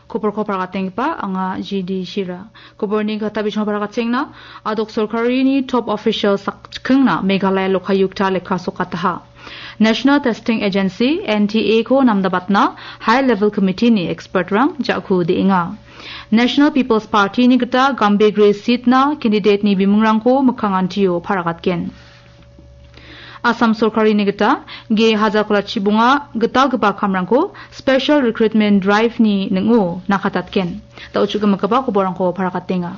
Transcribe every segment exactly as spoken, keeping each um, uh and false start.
Koborko pargatenggipa anga G D Shira. Koborni gita bisong pargatengna, adok sorkarini top official sakchikengna Meghalaya Lokayukta lekka sokataha. National Testing Agency, N T A ko namdabatna high level committee ni expert rang ja·ku de·enga. National People's Party ni gita Gambegre seat na candidate ni bimungrangko mikkangantio paragatgen. Assam sorkarini gita G Hajarkolachi bonga gitalgipa kamrangko Special Recruitment Drive ni ning·o nakatatgen. Da·o chu·gimigipa koborangko parakatenga.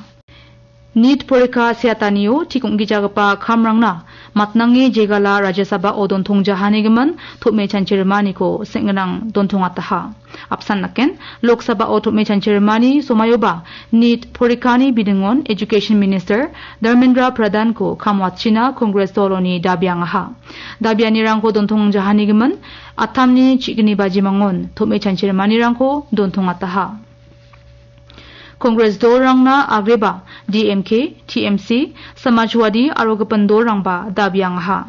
NEET porikha seatanio tik ong·gijagipa kamrangna matnange jegala Rajya Sabao dontongjahanigimin tom·e chanchirimaniko seng·ginang dontongataha. Apsan naken, Lok Sabao tom·e chanchirimani somaioba NEET porikhani bidingon Education Minister Dharmendra Pradhan-ko kam watchina Congress doloni dabiangaha. Dabianirangko dontong jahanigimin, atamni chi·gni bajimangon tom·e chanchirimanirangko dontongataha. Congress dolrangna agreba D M K, T M C, Samajwadi aro gipin dolrangba dabiangaha.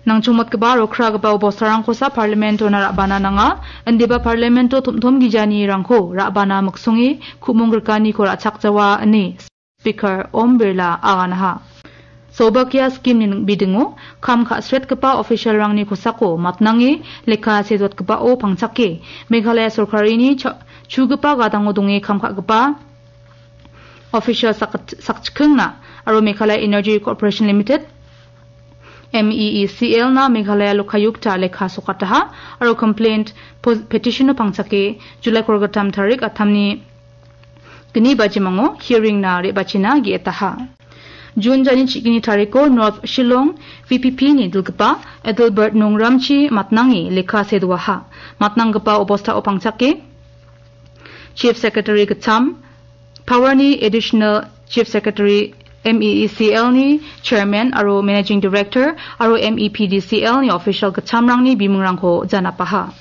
Nangchongmotgipa aro kragipa obostarangkosa Parliament-ona ra·bana nanga, indiba Parliament-o tom·tom gijanirangko ra·bana miksonge ku·mong grikaniko ra·chakjawa ine Speaker Om Birla aganaha. Saubhagya scheme-ni ning-, bidingo kam ka·sretgipa official-rangni kosako matnange lekka sedotgipao pangchake Meghalaya sorkarini cha-, chugipa gadango donge kam ka·gipa official sak-, sakchikengna aro Meghalaya Energy Corporation Limited, M E E C L na Meghalaya Lokayukta lekka sokataha aro complaint pos-, petition-o pangchake July kolgittam tarik atamni gni bajimango hearing-na re·bachina ge·etaha. June jani chi·gni tariko North Shillong V P P ni dilgipa Adelbert Nongramchi matnange lekka sedoaha. Matnanggipa obostao pangchake Chief Secretary gittam, Power-ni Additional Chief Secretary, M E E C L-ni Chairman aro Managing Director aro M E P D C L-ni official gittamrangni bimungrangko janapaha.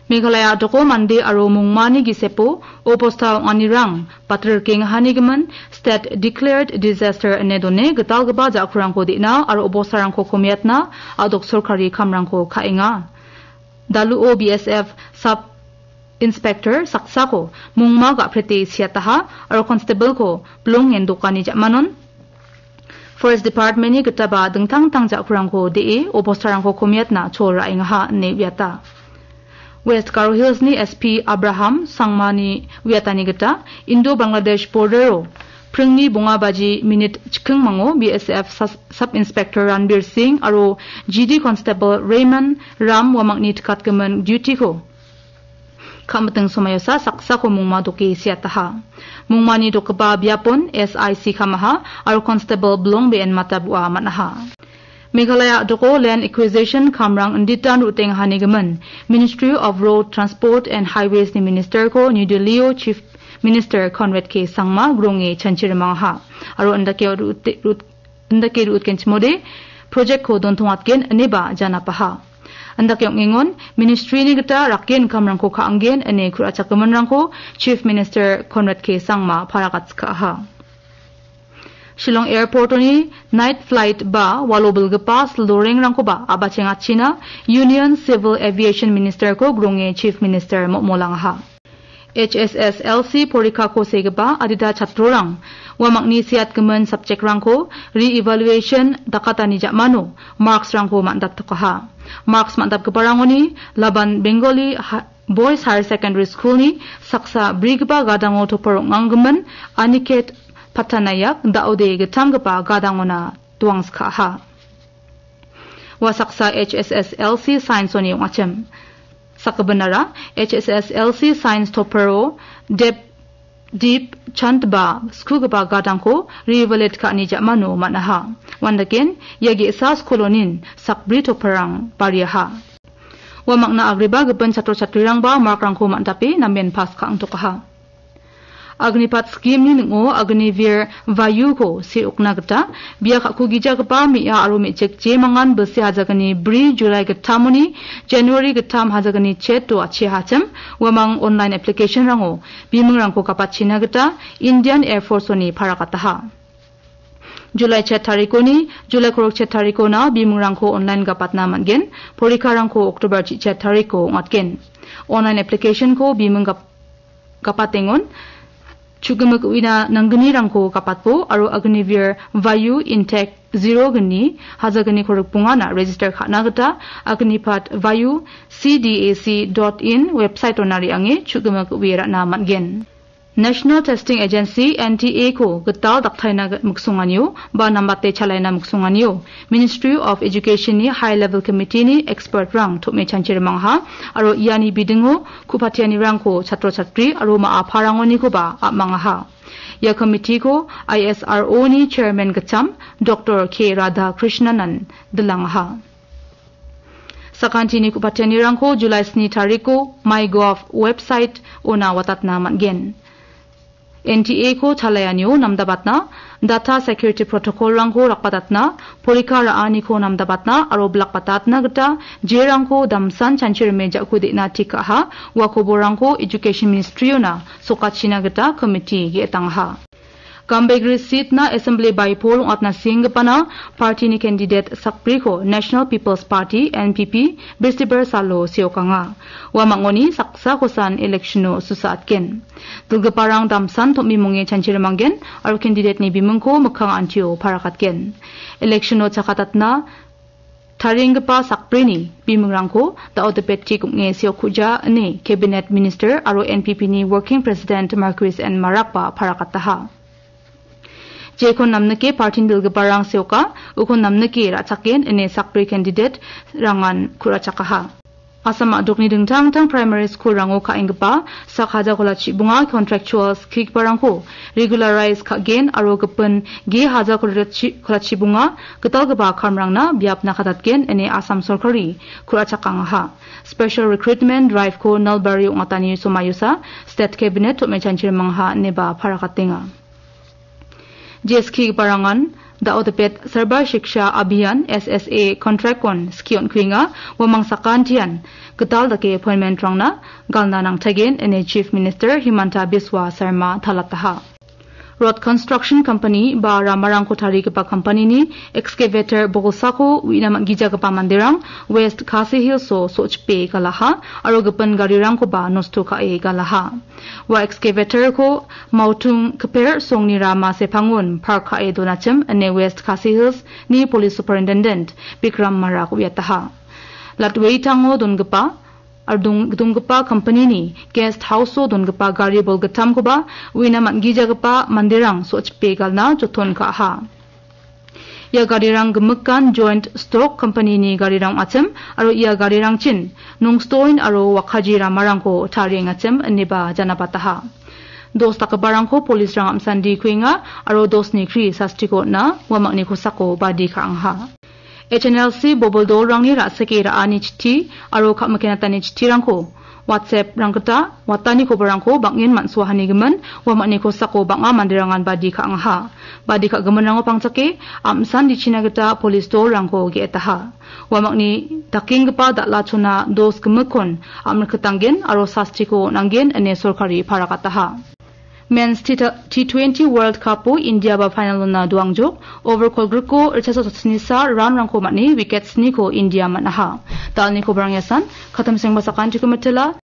Meghalaya a·doko mande aro mongmani gisepo obosta ong·anirang batirikengahanigimin State Declared Disaster ine done gitalgipa ja·kurangko de·na aro obostarangko komiatna a·dok sorkari kamrangko ka·enga. Daluo B S F Sub Inspector saksako mongma ga·prete siataha aro constable-ko bilongen dokani ja·manon Forest Department-ni gitaba dingtang dingtang ja·kurangko de·e obostarangko komiatna chol ra·engaha ine uiata. West Garo Hills-ni S P Abraham Sangmani uiatani gita Indo-Bangladesh border-o pringni bonga baji minit chikingmango B S F sas-, Sub Inspector Ranbir Singh aro G D Constable Raymond Ram uamangni tikatgimin duty-ko ka·miting somaiosa saksako mongma doke siataha. Mongmani dokgipa biapon S I C kamaha aro Constable Blong Be·en Matabua man·aha. Meghalaya a·doko Land Acquisition kamrang inditan ro·tengahanigimin Ministry of Road Transport and Highways-ni Minister-ko New Delhi-o Chief Minister Conrad K Sangma gronge chanchirimangaha aro indake ro·te-, ro-, indake ro·utgenchimode project-ko dontongatgen ineba janapaha. Indake ong·engon, ministry-ni gita rakgen kamrangko ka·anggen ine ku·rachakgiminrangko Chief Minister Conrad K Sangma paragatskaaha. Shillong Airport-oni night flight ba walo bilgipa sildorengrangkoba a·bachengachina Union Civil Aviation Minister-ko gronge Chief Minister mo·molangaha. H S S L C porikako segipa adita chatrorang uamangni seatgimin subject-rangko re-evaluation dakatani ja·mano marks-rangko man·daptokaha. Marks man·dapgiparangoni Laban Bengali Ha-, Boys Higher Secondary School-ni saksa brigipa gadango topar ong·anggimin Aniket Patanayak da·ode gittamgipa gadangona doangskaha. Ua saksa H S S L C Science-oni ong·achim. Sakgipinara H S S L C Science toparo Dep-, Deep Chand ba skugipa gadangko re-evaluate ka·ani ja·mano man·aha. Uandaken, ia ge·sa skolonin sakbri toparrang bariaha. Uamangna agreba gipin chatro chatrirangba markrangko man·tape namen pass ka·angtokaha. Agnipat scheme-ni ning·o Agniveer Vayu-ko se·okna gita bia ka·kugijagipa me·a aro me·chik jemangan bilsi hajagni bri July gittamoni January gittam hajagni chet-o achia hachim uamang online application-rango bimungrangko gapatchina gita Indian Air Force-oni paragataha. July chet tarikoni, July korok chet tarikona bimungrangko online gapatna man·gen. Porikarangko October chichet tariko ong·atgen. Online application-ko bimung gap-, gapatengon, chu·gimik uina nanggnirangko gapatbo aro Agniveer Vayu Intake zero gni hajagniko rikbongana register ka·na gita Agnipath Vayu C D A C dot in website-ona re·ange chu·gimik ue ra·na man·gen. National Testing Agency, N T A-ko gital daktaina miksonganio ba nambate chalaina miksonganio Ministry of Education-ni High Level Committee-ni expert-rang tom·e chanchirimangaha aro iani bidingo ku·patianirangko chatro-chatri aro ma·a parangonikoba apmangaha. Ia committee-ko I S R O-ni chairman gitcham Doctor K Radhakrishnanan dilangaha. Sakantini ku·patianirangko July sni tariko MyGov website-ona watatna man·gen. N T A-ko chalaianio namdabatna, data security protocol-rangko rakbatatna, porika ra·aniko namdabatna aro bilakbatatna gita jerangko damsan chanchirime ja·kode·na tik ka·aha, ua koborrangko Education Ministry-ona sokachina gita committee ge·etangaha. Gambegre seat-na Assembly by-poll ong·atna sienggipana party-ni candidate sakbriko National People's Party, N P P, Bestiber salo seokanga. Ua mangoni saksa kosan election-o susaatgen. Dilgiparang damsan tom·bimonge chanchirimanggen aro candidate-ni bimingko mikkang antio parakatgen. Election-o chakatatna tarienggipa sakbrini bimingrangko da·o dipettik ong·e seokkuja ine Cabinet Minister aro N P P-ni Working President Marcuise N Marakba parakataha. Jekon namnike partin dilgiparang seoka, ukon namnike ra·chaken ine sakbri candidate-rangan ku·rachakaha. Assam a·dokni dingtang dingtang primary school-rango ka·enggipa sak haja kolachi bonga contractual skigiparangko regularize ka·gen aro gipin ge haja kolachi, kolachi bonga gitalgipa kamrangna biapna katatgen ine Assam sorkari ku·rachakangaha. Special recruitment drive-ko Nalbari ong·atani somaiosa State Cabinet tom·e chanchirimangaha ineba parakatenga. Jeskigiparangan da·o dipet Sarva Shiksha Abhiyan, S S A, contract-kon skie on·kuenga, uamang sakantian gital dake appointment-rangna galna nangtagen ine Chief Minister Himanta Biswa Sarma talataha. Road construction company ba ramarangko tarigipa company-ni excavator bolsako uina man·gijagipa manderang West Khasi Hills-o so·chipe galaha aro gipin garirangkoba nosto ka·e galaha. Ua excavator-ko Mautung Kper songni rama sepangon park ka·e donachim ine West Khasi Hills-ni Police Superintendent Bikram Marak uiataha. Latwetango dongipa aro dong-, donggipa company-ni guest house-o dongipa gari bolgittamkoba uina man·gijagipa manderang so·chipe galna joton ka·aha. Ia garirang gimikan Joint Stock Company-ni garirang ong·achim aro ia garirangchin Nongstoin aro Wakaji ramarangko tariengachim ineba janabataha. Dos dakgiparangko police-rang am·sandi kuenga aro dosni kri sastiko on·a, uamangni kosako badi ka·angaha. H N L C bobil dolrangni ra·sike ra·ani chitti aro ka·mikenatani chittirangko WhatsApp-rang gita watani koborrangko bang·en man·soahanigimin, uamangni kosako bang·a manderangan badi ka·angaha. Badi ka·giminrango pangchake am·san dichina gita polis dolrangko ge·etaha. Uamangni dakenggipa dal·a chona dos gimikkon am·riktanggen aro sastiko on·anggen ine sorkari parakataha. Men's T-, T twenty World Cup-o India ba final-ona doangjok. Over kolgriko ritchasa sotsnisa run-rangko man·e wicket sniko India man·aha. Dalni koborang iasan, katamsengba sakantiko mitela.